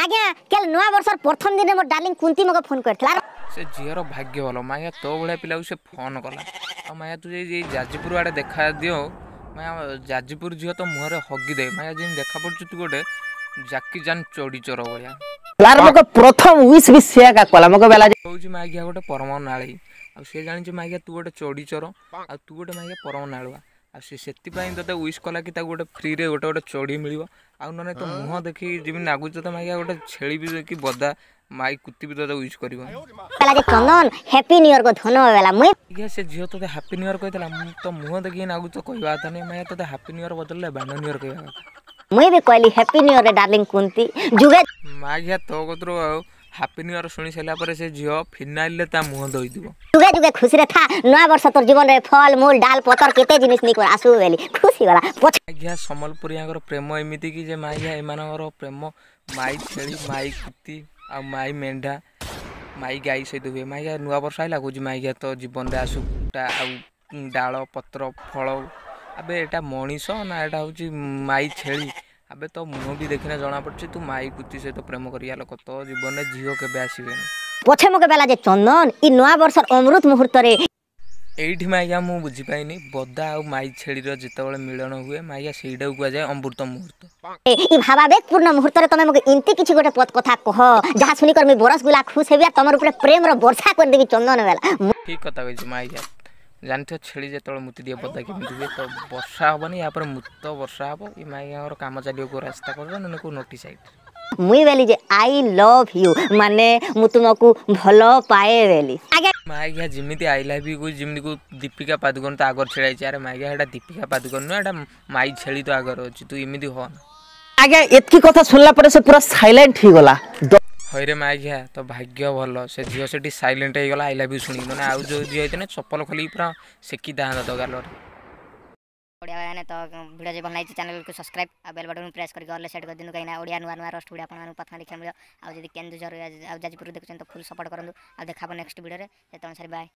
ଆଜ୍ଞା, କାଲ ନୂଆ ବର୍ଷର ପ୍ରଥମ ଦିନ ମୋ ଡାର୍ଲିଂ କୁନ୍ତି ମକେ ଫୋନ କରିଥିଲା। ସେ ଝିଅର ଭାଗ୍ୟ ଭଲ ମାୟା, ତୋ ଭଳିଆ ପିଲାକୁ ସେ ଫୋନ୍ କଲା। ଆଉ ମାୟା, ତୁ ଯାଇ ଯାଜପୁର ଆଡ଼େ ଦେଖା ଦିଅ ମାୟା, ଯାଜପୁର ଝିଅ ତ ମୁହଁରେ ହଗି ଦେ। ମାୟା, ଯେମିତି ଦେଖା ପଡ଼ୁଛୁ ତୁ ଗୋଟେ ଜାକି ଜାନ୍ ଚଢ଼ି ଚୋର ଭଳିଆ। ଆର ମକେ ପ୍ରଥମ ୱିଶ ବି ସେ ଏକା କଲା ମକେ ବେଲା। କହୁଛି ମାଗିଆ ଗୋଟେ ପରମ ନାଳେଇ, ଆଉ ସେ ଜାଣିଛି ମାଗିଆ ତୁ ଗୋଟେ ଚଢ଼ି ଚୋର, ଆଉ ତୁ ଗୋଟେ ମାଗିଆ ପରମ ନାଳୁଆ। ଆଉ ସେ ସେଥିପାଇଁ ତୋତେ ୱିଶ୍ କଲା କି ତାକୁ ଗୋଟେ ଫ୍ରିରେ ଗୋଟେ ଚଢ଼ି ମିଳିବ। ଆଉ ନହେଲେ ତୋ ମୁହଁ ଦେଖି ଯେମିତି ନାଗୁଛି ତୋତେ ମାଗିଆ ଗୋଟେ ଛେଳି ବି କି ବଦା ମାଇ କୁତି ବି ତୋତେ ୱିଶ୍ କରିବ। ବେଲା ଯେ ଚନ୍ଦନ, ହ୍ୟାପି ନ୍ୟୁ ଇୟର ଗୋ ଧନ ବେଲା ମୁଇଁ। ଆଜ୍ଞା, ସେ ଝିଅ ତୋତେ ହାପି ନ୍ୟୁ ଇୟର କହିଥିଲା। ମୁଁ ତୋ ମୁହଁ ଦେଖିକି ନାଗୁଛି ତ କହିବା କଥା ନୁହେଁ ମାଗିଆ, ତୋତେ ହାପି ନ୍ୟୁ ଇୟର ବଦଳରେ ବାଣ୍ଡ ନ୍ୟୁ ଇୟର କହିବା କଥା। ମୁଇଁ ବି କହିଲି ହ୍ୟାପି ନ୍ୟୁ ଇୟର ରେ ଡାର୍ଲିଂ କୁନ୍ତି, ଯୁଗେ ମାଗିଆ, ତୋ କତିରୁ ଆଉ ହାପି ନ୍ୟୁ ଇୟର ଶୁଣି ସାରିଲା ପରେ ସେ ଝିଅ ଫିନାଇଲରେ ତା ମୁହଁ ଧୋଇଥିବ। ଯୁଗେ ଯୁଗେ ଖୁସିରେ ଥା, ନୂଆ ବର୍ଷ ତୋର ଜୀବନରେ ଫଳ ମୂଳ ଡାଲ ପତର କେତେ ଜିନିଷ ନେଇକରି ଆସୁ ବୋଲି ଖୁସି ଗଲା ପଛ। ମାଗିଆ, ସମ୍ବଲପୁରିଆଙ୍କର ପ୍ରେମ ଏମିତି କି ଯେ ମାଗିଆ, ଏମାନଙ୍କର ପ୍ରେମ ମାଇ ଛେଳି, ମାଇ କୁତି ଆଉ ମାଇ ମେଣ୍ଢା, ମାଇ ଗାଈ ସହିତ ହୁଏ। ମାଗିଆ, ନୂଆ ବର୍ଷ ଆଇଲା, କହୁଛି ମାଗିଆ ତୋ ଜୀବନରେ ଆସୁ ଆଉ ଡାଳ ପତ୍ର ଫଳ। ଆବେ, ଏଇଟା ମଣିଷ ନା ଏଇଟା ହେଉଛି ମାଇ ଛେଳି? ଆବେ, ତୋ ମୁହଁ ବି ଦେଖିନା ଜଣାପଡ଼ୁଛି ତୁ ମାଇ କୁତି ସହିତ ପ୍ରେମ କରିବା ଲୋକ। ତୋ ଜୀବନରେ ଝିଅ କେବେ ଆସିବେନି। ପଛେ ମକେ ବେଲା ଯେ ଚନ୍ଦନ, ଇ ନୂଆ ବର୍ଷର ଅମୃତ ମୁହୂର୍ତ୍ତରେ ଏଇଠି ମାଇଗା ମୁଁ ବୁଝିପାଇନି, ବଦା ଆଉ ମାଇ ଛେଳିର ଯେତେବେଳେ ମିଳନ ହୁଏ ମାଇଗା, ସେଇଟାକୁ କୁହାଯାଏ ଅମୃତ ମୁହୂର୍ତ୍ତ। ଇ ଭାବାବେଗପୂର୍ଣ୍ଣ ମୁହୂର୍ତ୍ତରେ ତମେ ମକେ ଏମିତି କିଛି ଗୋଟେ ପଦ କଥା କହ, ଯାହା ଶୁଣିକରି ମୁଇଁ ବରସ ଗୁଲା ଖୁଶ ହେବି ଆଉ ତମର ଉପରେ ପ୍ରେମର ବର୍ଷା କରିଦେବି ଚନ୍ଦନ ବେଲା। ଠିକ୍ କଥା କହିଛୁ ମାଇଗା। ଜାଣିଥିବ ଛେଳି ଯେତେବେଳେ ମୁତି ଦିଏ ବଦା କେମିତି ହୁଏ? ତ ବର୍ଷା ହେବନି, ୟା ପରେ ମୁତ ବର୍ଷା ହେବ। ଏ ମାଇଗାଙ୍କର କାମ ଚାଲିବ କେଉଁ ରାସ୍ତା କଡ଼ରେ, ନହେଲେ କେଉଁ ନୋଟି ସାଇଡ଼୍। ମୁଇଁ ବେଲି ଯେ I love you, ମାନେ ମୁଁ ତୁମକୁ ଭଲ ପାଏ ବେଲି ଆଜ୍ଞା। ମାଇଗା ଯେମିତି I love you କହୁଛି, ଯେମିତି କେଉଁ ଦୀପିକା ପାଦୁକୋନ ତ ଆଗରେ ଛିଡ଼ା ହେଇଛି। ଆରେ ମାଇଗା, ଏଇଟା ଦୀପିକା ପାଦୁକୋନ ନୁହେଁ, ଏଇଟା ମାଇ ଛେଳି ତ ଆଗରେ ଅଛି, ତୁ ଏମିତି ହଅନା। ଆଜ୍ଞା, ଏତ୍କି କଥା ଶୁଣିଲା ପରେ ସେ ପୁରା ସାଇଲେଣ୍ଟ ହେଇଗଲା। ହଇରେ ମାଇଘିଆ, ତୋ ଭାଗ୍ୟ ଭଲ ସେ ଝିଅ ସେଠି ସାଇଲେଣ୍ଟ ହେଇଗଲା I love you ଶୁଣିକି, ମାନେ ଆଉ ଯେଉଁ ଝିଅ ହେଇଥିଲେ ଚପଲ ଖୋଲିକି ପୁରା ସେକିଥାନ୍ତା ତୋ ଗାଲରେ। ଓଡ଼ିଆ ଭାଇମାନେ, ତ ଭିଡ଼ିଓ ଯଦି ଭଲ ଲାଗିଛି, ଚ୍ୟାନେଲକୁ ସବସ୍କ୍ରାଇବ୍ ଆଉ ବେଲ୍ ବଟନ୍ ପ୍ରେସ୍ କରିକି ଅଲ୍ ସେଟ୍ କରିଦିଅନ୍ତୁ, କାହିଁକିନା ଓଡ଼ିଆ ନୂଆ ନୂଆ ରୋଷ୍ଟ ଭିଡ଼ିଓ ଆପଣମାନଙ୍କୁ ପ୍ରଥମେ ଦେଖିବାକୁ ମିଳିବ। ଆଉ ଯଦି କେନ୍ଦୁଝର ଆଉ ଯାଜପୁର ଦେଖୁଛନ୍ତି, ତ ଫୁଲ୍ ସପୋର୍ଟ କରନ୍ତୁ। ଆଉ ଦେଖା ହେବ ନେକ୍ସଟ ଭିଡ଼ିଓରେ, ସେତେବେଳେ ସାର୍ ବାଏ।